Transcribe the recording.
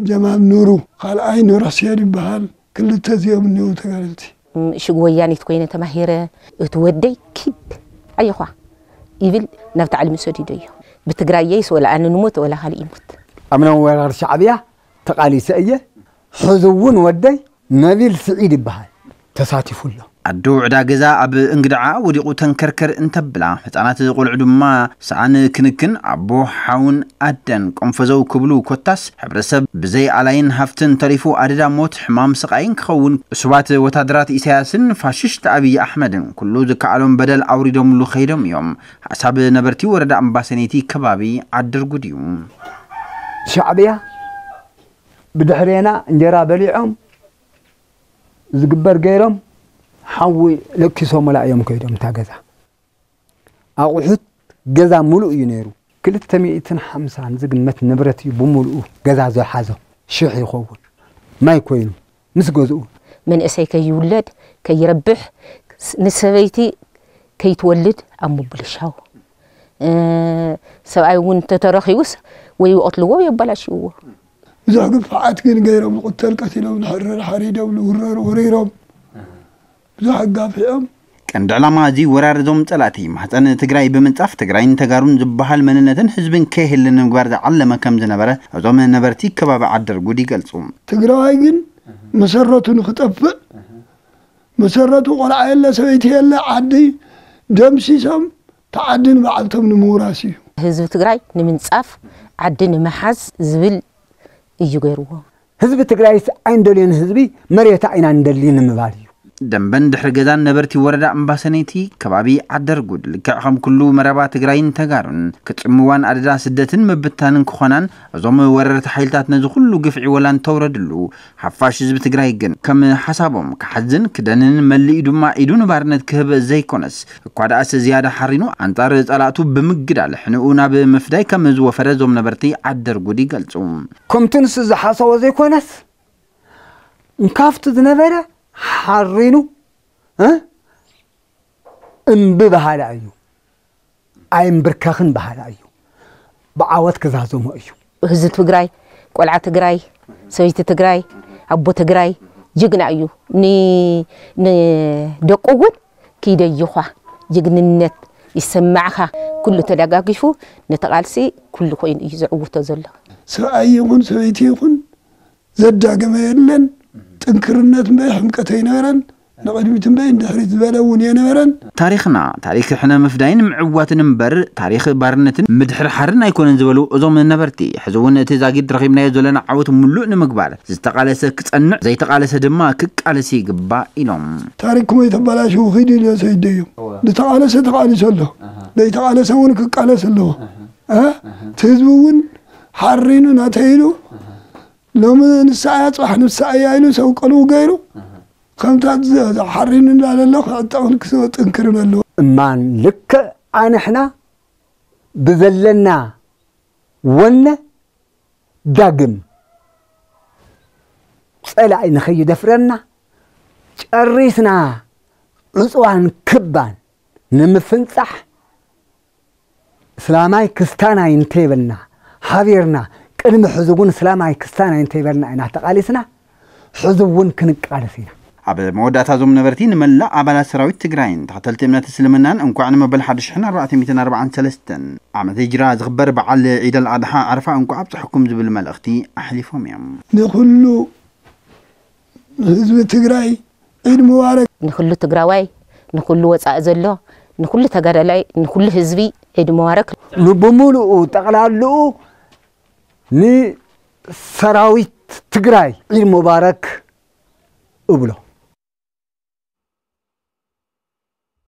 ጀማል ኑሩ፣ ካልኣይ ኑረስዮን ይበሃል። ክልተ እዚኦም እኒው ተጋደልቲ። ሽግ ወያኒት ኮይነ ተማሂረ፣ እቲ ወደይ ኪድ ኣየኳ ይብል፣ ናብቲ ዓለም ሰዲዶ እዩ። ብትግራየይስ ወላ ኣነ ንሞት ወላ ካልእ ይሞት። ኣብ ናይ ወራር ሻዕብያ ተቓሊሰ እየ። ሕዚ እውን ወደይ ነቢል ስዒድ ይበሃል፣ ተሳቲፉ ኣሎ። ኣዶ ዕዳ ገዛ ኣብ እንግድዓ ወዲቑ ተንከርከር እንተብላ፣ ህፃናት ቆልዑ ድማ ሰኣን ክንክን ኣቦ ሓውን ኣደን ቆንፈዘው ክብሉ፣ ኮታስ ሕብረተሰብ ብዘይ ኣላይን ሃፍትን ተሪፉ ኣደዳ ሞት፣ ሕማም፣ ስቓይን ክኸውን፣ እሱባት ወታደራት ኢሳያስን ፋሽስት ኣብይ ኣሕመድን ኩሉ ዝከኣሎም በደል ኣውሪዶምሉ ከይዶም እዮም። ሓሳብ ነበርቲ ወረዳ እምባሰኔቲ ከባቢ ዓድርጉድ እዩ። ሻዕብያ ብድሕሬና እንጀራ በሊዖም ዝግበር ገይሮም ሓዊ ለኪሶምላ እዮም ከይዶም። እታ ገዛ ኣቑሑት ገዛ ሙሉእ እዩ ነይሩ። ክልተ ሚእትን ሓምሳን ዝግመት ንብረት እዩ ብሙሉኡ ገዛ ዝሓዞ። ሽሕ ይኸውን ማይ ኮይኑ ምስ ገዝኡ። መንእሰይ ከይውለድ ከይረብሕ፣ ንሰበይቲ ከይትወልድ ኣብ ምብልሻው፣ ሰብኣይ እውን እንተተረኺቡስ ወይ ይቐትልዎ ወይ የበላሽውዎ። ብዙሕ ግፍዓት ግን ገይሮም፣ ዝቕተል ቀቲሎም፣ ዝሕረር ሓሪዶም፣ ዝውረር ወሪሮም፣ ብዙሕ ኣጋፊዖም። ቀንዲ ዕላማ እዚ ወራር እዞም ጸላእቲ ማህጸን ትግራይ ብምንጻፍ ትግራይን ተጋሩን ዝበሃል መንነትን ህዝብን ከይህሊ ንምግባር ዝዓለመ ከም ዝነበረ እዞም ነበርቲ ከባቢ ዓደርጉድ ይገልጹ። ትግራዋይ ግን መሰረቱ ንክጠፍእ፣ መሰረቱ ቆልዓ የለ ሰበይቲ የለ ዓዲ ደምሲሶም ተዓዲ ንባዕልቶም ንምውራስ እዩ። ህዝቢ ትግራይ ንምንጻፍ ዓዲ ንምሓዝ ዝብል እዩ ገይርዎ። ህዝቢ ትግራይስ ኣይንደልዮን ህዝቢ መሬታ ኢና ንደሊ ንምባል እዩ። ደንበን ድሕሪ ገዛን ነበርቲ ወረዳ እምባሰነይቲ ከባቢ ዓደርጉድ ልክዕ ከም ኩሉ መረባ ትግራይን ተጋሩን ክጽምዋን ኣደዳ ስደትን ምብታንን ክኾናን እዞም ወረርቲ ሓይልታት ነዚ ኩሉ ግፍዒ ወላ እንተውረድሉ ሓፋሽ ህዝቢ ትግራይ ግን ከም ሓሳቦም ክሓዝን ክደንን መሊኡ ድማ ኢዱ ንባርነት ክህብ ዘይኮነስ እኳ ደኣስ ዝያዳ ሓሪኑ ኣንጻር ጸላእቱ ብምግዳል ሕንኡ ናብ ምፍዳይ ከም ዝወፈረ እዞም ነበርቲ ዓደርጉድ ይገልጹ። ከምቲ ንሱ ዝሓሰቦ ዘይኮነስ እንካፍቱ ዝነበረ ሓሪኑ እ እምቢ በሃላ እዩ ኣይምብርከኽን በሃላ እዩ ብዓወት ክዛዘሞ እዩ። ህዝቢ ትግራይ፣ ቆልዓ ትግራይ፣ ሰበይቲ ትግራይ፣ ኣቦ ትግራይ ጅግና እዩ። ንደቁ እውን ክይደይኳ ጅግንነት ይሰማዕኻ። ኩሉ ተደጋጊፉ ነቲ ቃልሲ ኩሉ ኮይኑ እዩ ዝዕውቶ ዘሎ። ሰብኣይ ይኹን ሰበይቲ ይኹን ዘዳገመ የለን። ጥንክርነት እምበይ ሕምቀት ኣይነበረን። ንቕድሚት እምበይ ንድሕሪት ዝበለ እውን የነበረን። ታሪኽና ታሪኽ ሕነ ምፍዳይን ምዕዋትን እምበር ታሪኽ ባርነትን ምድሕርሓርን ኣይኮነን ዝበሉ እዞም ነበርቲ፣ ሕዚ እውን እቲ ዛጊድ ረኺብናዮ ዘለና ዓወት ምሉእ ንምግባር ዝተቓለሰ ክጸንዕ ዘይተቓለሰ ድማ ክቃለስ ይግባእ ኢሎም። ታሪኽኩም ኣይተበላሽዉ ኺዱ ኢለ ሰይደዮም። ዝተቓለሰ ተቓሊሱ ኣሎ፣ ዘይተቓለሰ እውን ክቃለስ ኣለዎ። እቲ ህዝቢ እውን ሓሪኑ ናተይ ኢሉ ሎሚ ንሳ እያ ፅባሕ ንሳ እያ ኢሉ ሰብ ቀልቡ ገይሩ ከምታ ሓሪኑ እንዳለሎ ክዕጠቕን ክጥንክርን ኣለዎ። እማን ልክዕ ኣንሕና ብዘለና ወነ ዳግም ፀላኢ ንኸይደፍረና ጨሪስና ዕፅዋን ክባን ንምፍንፃሕ እስላማይ ክስታናይ እንተይበልና ሓቢርና ቅድሚ ሕዚ እውን እስላማይ ክስታናይ እንተይበልና ኢና ተቓሊስና ሕዚ እውን ክንቃለስ ኢና። ኣብ መወዳእታ እዞም ነበርቲ ንመላእ ኣባላት ሰራዊት ትግራይን ተኸተልቲ እምነት እስልምናን እንኳዕ ንመበል ሓደ ሽሕን ኣርባዕተ ሚእትን ኣርባዓን ሰለስተን ዓመተ ሂጅራ ዝኽበር በዓል ዒደል ኣድሓ ዓረፋ እንኳዕ ኣብፀሐኩም ዝብል መልእኽቲ ኣሕሊፎም እዮም። ንኹሉ ህዝቢ ትግራይ ዒድ ሙባረክ። ንኹሉ ትግራዋይ፣ ንኹሉ ወፃኢ ዘሎ፣ ንኹሉ ተጋዳላይ፣ ንኹሉ ህዝቢ ዒድ ሙባረክ። ንብሙሉኡ ጠቕላልኡ ንሰራዊት ትግራይ ዒድ ሙባረክ እብሎ።